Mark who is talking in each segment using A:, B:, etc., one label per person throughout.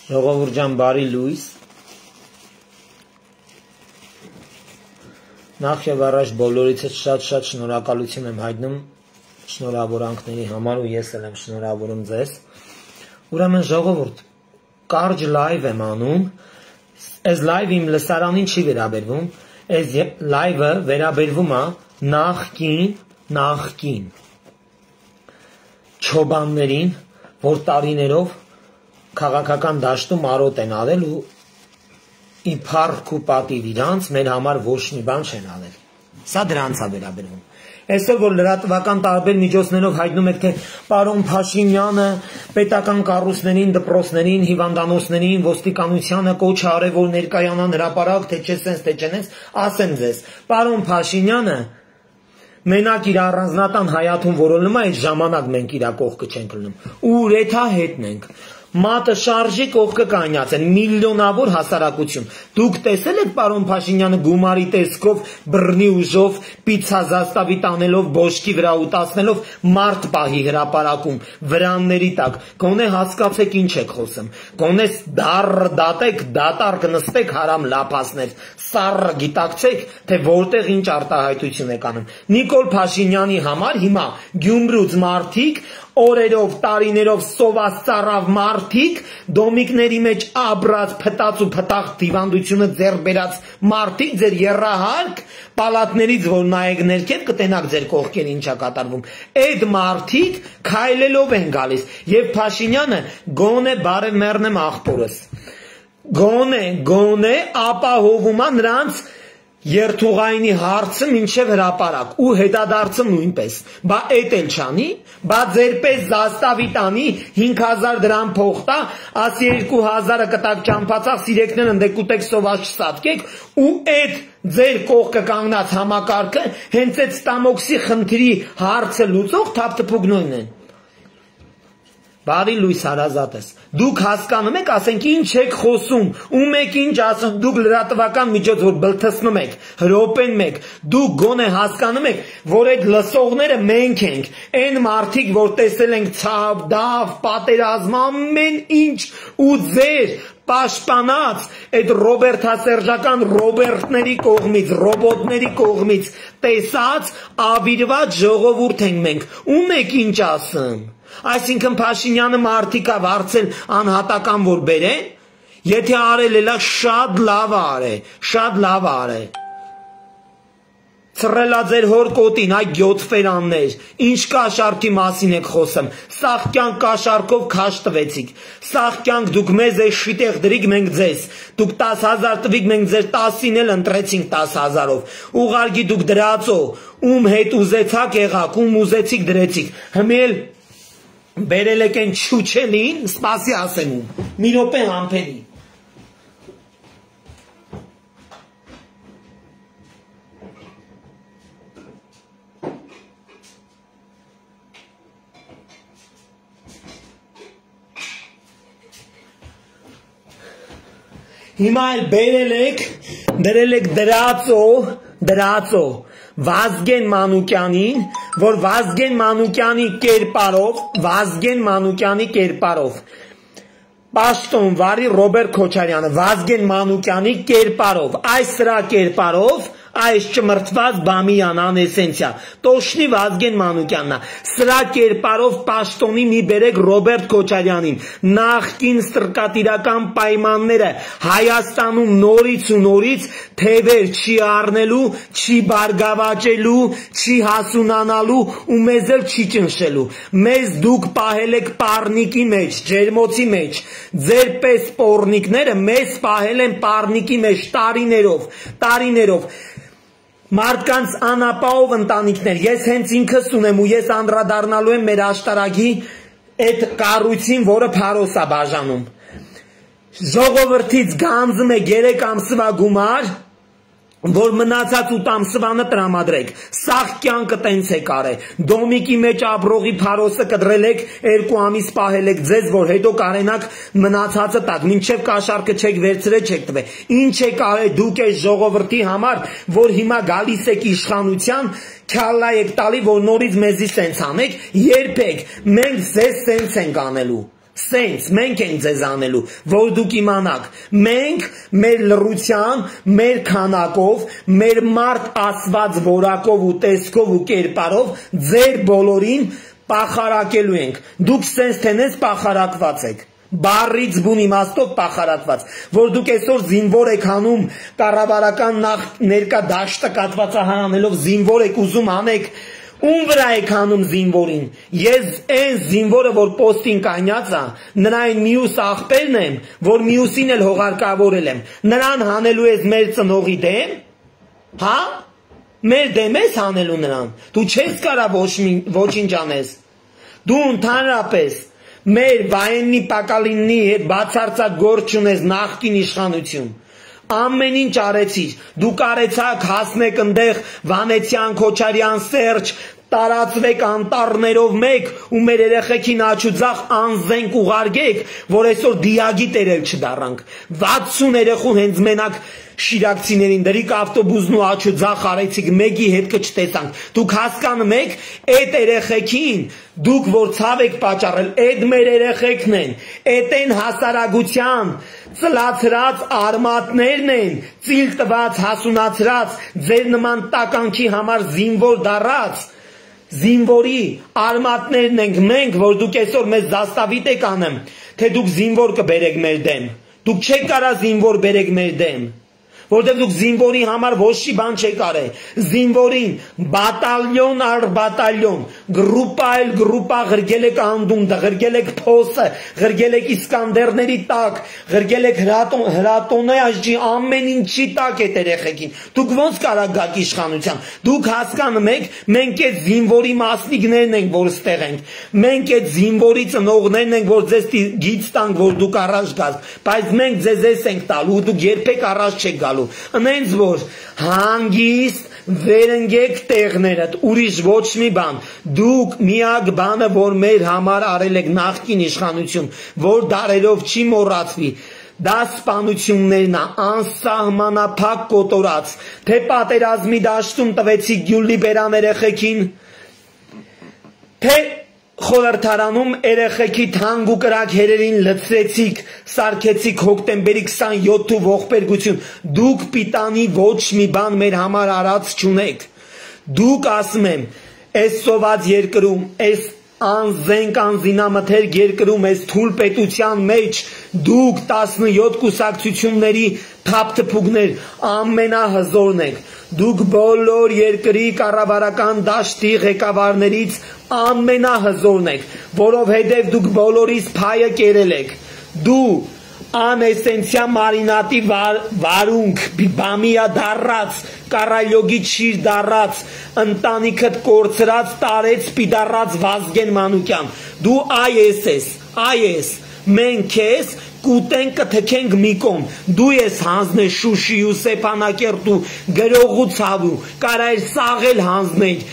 A: Ժողովուրդ ջան, բարի լույս։ Նախ եւ առաջ բոլորիցս շատ շնորհակալություն եմ հայտնում շնորհավորանքների համար ու ես էլ եմ շնորհավորում ձեզ։ Ուրեմն ժողովուրդ, կարճ լայվ եմ անում։ Այս լայվը իմ լսարանին չի վերաբերվում, այս լայվը վերաբերվում է նախկին չոբաններին, որ տարիներով քաղաքական դաշտում արոտ են արել ու ի փառք ու պատիվ իրանց մեր համար ոչ մի բան չեն արել։ Սա դրանց է վերաբերվում։ Այսօր որ լրատվական տարբեր միջոցներով հայտնում եք, թե պարոն Փաշինյանը պետական կառույցներին, դպրոցներին, հիվանդանոցներին, ոստիկանությանը կոչ է արել, որ ներկայանան հրապարակ, թե չէ սենց, թե չենես, ասեմ ձեզ, պարոն Փաշինյանը մենակ իր առանձնատան հայաթուն որոնում է, այդ ժամանակ մենք իր կողքը չենք լնում։ Ու ռեթա հետն ենք։ Մատը շարժի կողքը կանյաց են, միլիոնավոր հասարակություն։ Դուք տեսել եք պարոն Փաշինյանը գումարի տեսքով, բռնի ուժով, պիցա զաստավի տանելով, բոշկի վրա ուտացնելով մարդ պահի հրապարակում, վրանների տակ, գոնե հասկացեք ինչ եք խոսում, գոնե դատեք, դատար կնստեք հարամ լափասներ, սառը գիտակցեք, թե որտեղ ինչ արտահայտություն եք անում։ Նիկոլ Փաշինյանի համար հիմա Գյումրուց մարդիկ օրերով, տարիներով սովասծառավ մարդիկ, դոմիկների մեջ աբրած, փտած ու փտաղ դիվանդությունը ձեռ բերած մարդիկ, ձեր եռահարկ պալատներից, որ նայեք ներքև, կտենաք ձեր կողքեր ինչա կատարվում։ Այդ մարդիկ քայլելով են գալիս, եւ Փաշինյանը գոնե բարև մեռնեմ աղբորս։ Գոնե ապահովում է նրանց երթուղայինի հարցը մինչև հրապարակ ու հետադարձը նույնպես, բա էդ էլ չանի, բա ձեր պես զաստավի տանի 5000 դրամ փող տա, ասի 2000-ը կտակ ճամփացախ սիրեկներ ընդեք ուտեք սոված չսատկեք ու այդ ձեր կողքը կանգնած համակարգը հենց այդ ստամոքսի խնդրի հարցը լուծող թափթփուկնոյն են։ Բարի լույս հարազատես, դուք հասկանում եք, ասենք ինչ եք խոսում, ում եք ինչ ասում, դուք լրատվական միջոց որ բլթացնում եք, հրոպեն մեկ, դուք գոնե հասկանում եք, որ այդ լսողները մենք ենք, այն մարդիկ, որ տեսել ենք ցավ, դավ, պատերազմ, ամեն ինչ ու ձեր պաշտպանած այդ ռոբերտասերժական ռոբերտների կողմից, ռոբոտների կողմից տեսած ավիրված ժողովուրդ ենք մենք, ում եք ինչ ասում։ Այսինքն Փաշինյանը մարդիկա վարձել անհատական որ բերեն, եթե արել էլա շատ լավ արե։ Ծռելա ձեր հոր կոտին, այ գյոթֆերաններ, ինչ կաշառքի մասին եք խոսում, սաղ կյանք կաշառքով քաշ տվեցիք, սաղ կյանք դուք մեզ է շիտեղ դրիք մենք ձեզ, դուք 10,000 տվիք մենք ձեր 10-ին էլ ընտրեցինք 10,000-ով, ուղարկի դուք դրածո, ում հետ ուզեցաք եղաք, ում ուզեցիք դրեցիք, հմել բերել եք են չուչելին, սպասի ասեմ ում, մի րոպե համպերի։ Հիմա էլ բերել եք, դրել եք դրածո, Վազգեն Մանուկյանին, որ Վազգեն Մանուկյանի կերպարով, Պաշտոն վարի Ռոբերտ Քոչարյանը, Վազգեն Մանուկյանի կերպարով, այս սրա կերպարով, այս ճմրթված բամիյանան էսենցիա, տոշնի Վազգեն Մանուկյաննա, սրա կերպարով պաշտոնի մի բերեք Ռոբերտ Քոչարյանին, նախկին ստրկատիրական պայմանները Հայաստանում նորից ու նորից թևեր չի առնելու, չի բարգավաճելու, չի հասունանալու ու մեզ էլ չի ճնշելու, մեզ դուք պահել եք պառնիկի մեջ, ջերմոցի մեջ, ձեր պես պոռնիկները մեզ պահել են պառնիկի մեջ տարիներով, մարդկանց անապահով ընտանիքներ, ես հենց ինքս ունեմ ու ես անդրադառնալու եմ մեր աշտարակի այդ կառույցին, որը Փարոս է բաժանում։ Ժողովրդից գանձում է 3 ամսվա գումար, որ մնացած 8 ամսվանը տրամադրեք, սաղ կյանքը տենց եք արել, դոմիկի մեջ ապրողի Փարոսը կդրել եք, 2 ամիս պահել եք ձեզ, որ հետո կարենաք մնացածը տակ, մինչև կաշառքը չեք վերցրել, չեք տվել, ինչ եք արել դուք այս ժողովրդի համար, որ հիմա գալիս եք իշխանության, քյալլա եք տալի, որ նորից մեզի սենց անեք, երբեք, մենք ձեզ սենց ենք անելու, Սենց մենք ենք ձեզ անելու, որ դուք իմանաք, մենք մեր լռության, մեր քանակով, մեր մարդ ասված որակով ու տեսքով ու կերպարով ձեր բոլորին պախարակելու ենք, դուք սենց թենես պախարակված եք, բառից բուն իմաստով պախարակված, որ դուք այսօր զինվոր եք հանում, կառավարական ներկա դաշտը կատվածահանելով զինվոր եք ուզում անեք, ում վրա եք հանում զինվորին, ես այն զինվորը, որ պոստին կանյաց է, նրան միուս աղբերն եմ, որ միուսին էլ հողարկավորել եմ, նրան հանելու ես մեր ծնողի դեմ, հա, մեր դեմ ես հանելու նրան, դու չես կարա ոչինչ անես, դու ընդհանրապես մեր վայեննի պակալիննի հետ բացարձակ գործ չունես նախկին իշխանություն, ամեն ինչ արեցիր, դուք արեցաք հասնեք ընդեղ Վանեցյան, Քոչարյան, Սերջ, տարածվեք անտառներով մեկ ու մեր երեխեքին աչուձախ անզենք ուղարկեք, որ այսօր դիագի տերել չդառանք, 60 երեխու հենց մենակ շիրակցիներին դրիկ ավտոբուսն ու աչուձախ արեցիք, մեկի հետ կչտեսանք, դուք հասկանում եք, այդ երեխեքին, դուք որ ցավ եք պատճառել, այդ մեր երեխեքն են, այդ են հասարակության ծլացրած արմատներն են, ծիլ տված, հասունացրած, ձեր նման տականքի համար զինվոր դառած, զինվորի արմատներն ենք մենք, որ դուք այսօր մեզ զաստավիտ եք անեմ, թե դուք զինվոր կբերեք մեր դեմ, դուք չեք կարա զինվոր բերեք մեր դեմ, որտեղ դուք զինվորի համար ոչ մի բան չեք արել, զինվորին բատալյոն առ բատալյոն, գրուպա այլ գրուպա ղրգել եք անդունդը, ղրգել եք փոսը, ղրգել եք իսկանդերների տակ, ղրգել եք հրատոնե աջի ամեն ինչի տակ է երեխեքին, դուք ոնց կարա գաք իշխանության, դուք հասկանում եք, մենք այդ զինվորի մասնիկներն ենք, որ ստեղ ենք, մենք այդ զինվորի ծնողներն ենք, որ ձեզ գիծ տանք, որ դուք առաջ գաք, բայց մենք ձեզ ենք տալու, դուք երբեք առաջ չեք գալու, ընենց որ հանգիստ վերընգեք տեղներդ, ուրիշ ոչ մի բան, դուք միակ բանը, որ մեր համար արել եք նախկին իշխանություն, որ դարերով չի մոռացվի, դա սպանություններն է, անսահմանափակ կոտորած, թե պատերազմի դաշտում տվեցիք Գյուլիբերան երեխեքին, թե խորհրդարանում երեխեքի թանկ ու կրակ հերերին լցրեցիք, սարքեցիք հոկտեմբերի 27-ու ողբերգություն, դուք պիտանի ոչ մի բան մեր համար արած չունեք, դուք ասում եմ, այս սոված երկրում, այս անզենք անզինամթերք երկրում, այս թույլ պետության մեջ, դուք 17 կուսակցությունների թափթփուկներ ամենահզորն եք, դուք բոլոր երկրի կառավարական դաշտի ղեկավարներից ամենահզորն եք, որովհետև դուք բոլորիս փայը կերել եք, դու անեսենցիա մարինատի վարունք, բամիա դառած, կարայլոգի չիր դառած, ընտանիքդ կորցրած տարեց պիդառած Վազգեն Մանուկյան, դու այ ես, մենք քեզ կուտենք կթքենք մի կողմ, դու ես հանձնել Շուշի ու Ստեփանակերտու գրողու ցավու, կարայր սաղել հանձնել,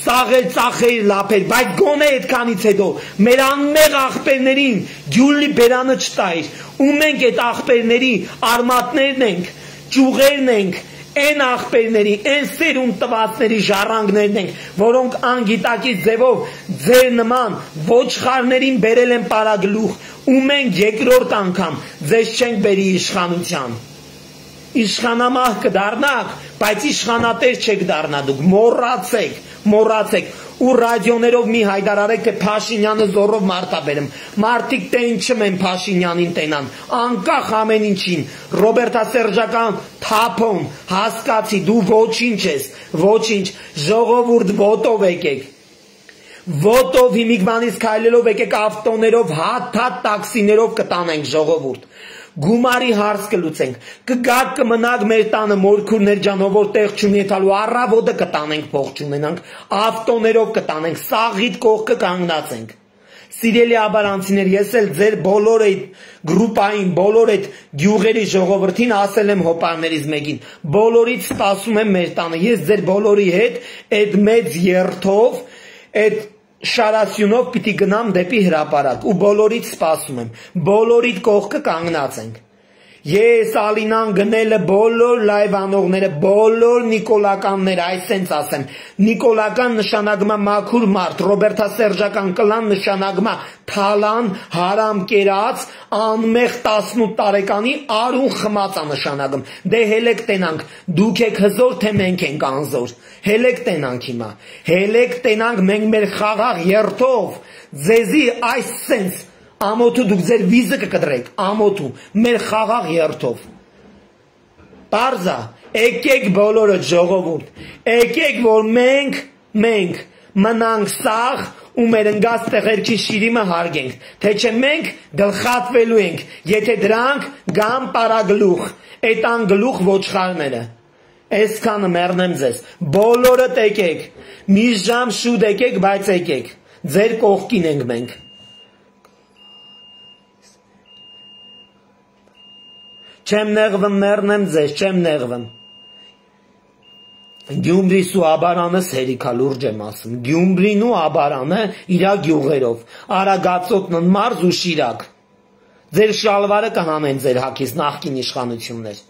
A: սաղել ծախել լապել, բայց գոնե այդքանից հետո մեր անմեղ աղբերներին Գյուլիբերանը չտայր, ու մենք այդ աղբերների արմատներն ենք, ճյուղերն ենք, այն աղբերների, այն սերուն տվածների ժառանգներն ենք, որոնք անգիտակից ձևով ձեր նման ոչխարներին բերել են պարագլուխ, ու մենք երկրորդ անգամ ձեզ չենք բերի իշխանության, իշխանամահ կդառնաք, բայց իշխանատեր չեք դառնա դուք, մոռացեք, ու ռադիոներով մի հայտարարեք, թե Փաշինյանը զորով մարտաբերեմ, մարդիկ տենչում են Փաշինյանին տենան, անկախ ամեն ինչին, Ռոբերտասերժական թափոն, հասկացի, դու ոչինչ ես, ոչինչ, ժողովուրդ ոտով եկեք, ոտով հիմիկվանից քայլելով եկեք ավտոներով, հատ տաքսիներով կտանենք ժողովուրդ, գումարի հարց կլուծենք, կգաք կմնաք մեր տանը մորքուրներ ջանով, որ տեղ չունի եթալու առավոտը կտանենք փող չունենանք, ավտոներով կտանենք, սաղիդ կողքը կանգնացենք, սիրելի աբարանցիներ, ես էլ ձեր բոլոր այդ գրուպային, բոլոր այդ գյուղերի ժողովրդին ասել եմ հոպարներից մեկին, բոլորից սպասում եմ մեր տանը, ես ձեր բոլորի հետ այդ մեծ երթով, այդ շարասյունով պիտի գնամ դեպի հրապարակ ու բոլորից սպասում եմ, բոլորիդ կողքը կանգնած ենք, Ես Ալինան գնելը բոլոր լայվ անողները, բոլոր նիկոլականները, այսենց ասեմ, նիկոլական նշանակմա մաքուր մարդ, ռոբերտասերժական կլան նշանակմա թալան, հարամ կերած, անմեղ 18 տարեկանի արուն խմածա նշանակում, դե հելեք տենանք, դուք եք հզոր, թե մենք ենք անզոր, հելեք տենանք հիմա, հելեք տենանք մենք մեր խաղաղ երթով, ձեզի այս սենց, ամոթու դուք ձեր վիզը կկտրեք, ամոթու, մեր խաղաղ երթով, պարզա, եկեք բոլորը ժողովուրդ, եկեք որ մենք մնանք սաղ ու մեր ընգած տեղերքի շիրիմը հարգենք, թե չէ մենք գլխատվելու ենք, եթե դրանք գամ պարագլուխ, էտան գլուխ ոչխարները, այսքանը մեռնեմ ձեզ, բոլորդ եկեք, մի ժամ շուտ եկեք, բայց եկեք, ձեր կողքին ենք մենք, չեմ նեղվեմ մեռնեմ ձեզ, չեմ նեղվեմ, Գյումրիս ու աբարանս հերիքա լուրջ եմ ասում, Գյումրին ու աբարանը իրա գյուղերով, Արագածոտնն մարզ ու շիրակ, ձեր շալվարը կհանեն ձեր հակից նախկին իշխանություններ,